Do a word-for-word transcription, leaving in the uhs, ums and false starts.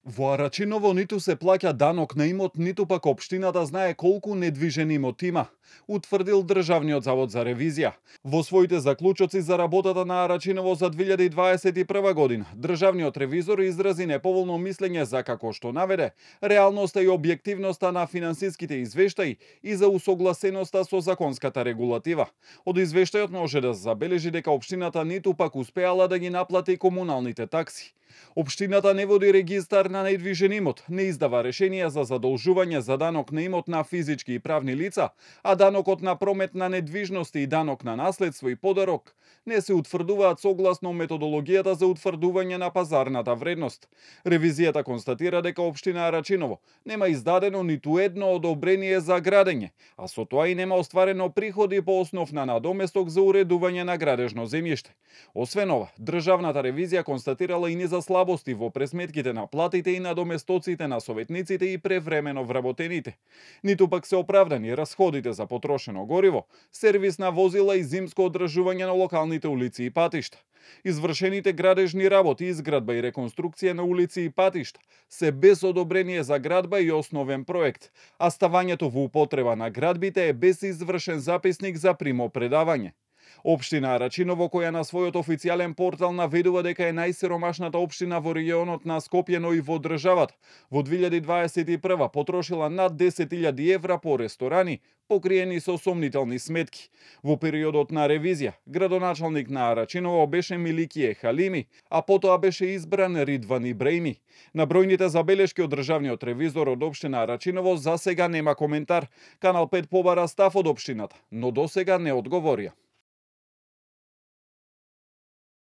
Во Арачиново ниту се плаќа данок на имот, ниту пак општината знае колку недвижен имот има, утврдил Државниот завод за ревизија. Во своите заклучоци за работата на Арачиново за две илјади дваесет и прва година, државниот ревизор изрази неповолно мислење за, како што наведе, реалноста и објективноста на финансиските извештаи и за усогласеноста со законската регулатива. Од извештајот може да забележи дека општината ниту пак успеала да ги наплати комуналните такси. Општината не води регистар на недвижен имот, не издава решенија за задолжување за данок на имот на физички и правни лица, а данокот на промет на недвижности и данок на наследство и подарок не се утврдуваат согласно методологијата за утврдување на пазарната вредност. Ревизијата констатира дека општина Арачиново нема издадено ниту едно одобрение за градење, а со тоа и нема остварено приходи по основ на надоместок за уредување на градежно земјиште. Освен ова, државната ревизија констатирала и низа слабости во пресметките на платите и надоместоците на советниците и превремено вработените. Ниту пак се оправдани расходите за потрошено гориво, сервис на возила и зимско одржување на локалните улици и патишта. Извршените градежни работи, изградба и реконструкција на улици и патишта се без одобрение за градба и основен проект, а ставањето во употреба на градбите е без извршен записник за примопредавање. Општина Арачиново, која на својот официјален портал наведува дека е најсиромашната општина во регионот на Скопје, но и во државата, во две илјади дваесет и прва потрошила над десет илјади евра по ресторани, покриени со сомнителни сметки. Во периодот на ревизија, градоначалник на Арачиново беше Миликије Халими, а потоа беше избран Ридван Ибраими. На бројните забелешки од државниот ревизор од општина Арачиново засега нема коментар. Канал пет побара став од општината, но досега не одговорија.